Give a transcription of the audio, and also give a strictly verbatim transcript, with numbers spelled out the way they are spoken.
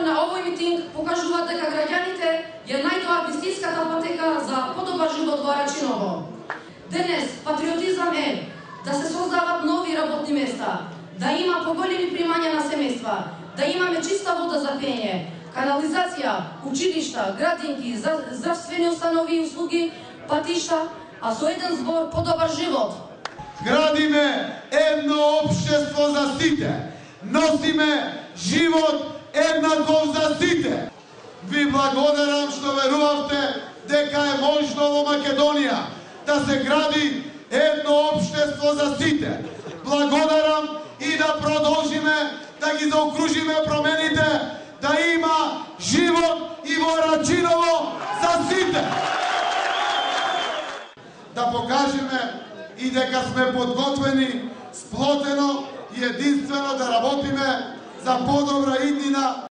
Присуството на овој митинг покажува дека граѓаните ја најдоа вистинската патека за подобар живот во Рачиново. Денес патриотизам е да се создават нови работни места, да има поголеми примања на семејства, да имаме чиста вода за пиење, канализација, училишта, градинки, здравствени установи и услуги, патишта, а со еден збор подобар живот. Градиме едно општество за сите. Носиме живот еднаков за сите. Ви благодарам што верувавте дека е можно во Македонија да се гради едно општество за сите. Благодарам и да продолжиме да ги заокружиме промените, да има живот и во Рачиново за сите. Да покажеме и дека сме подготвени сплотено и единствено да работиме за подобра иднина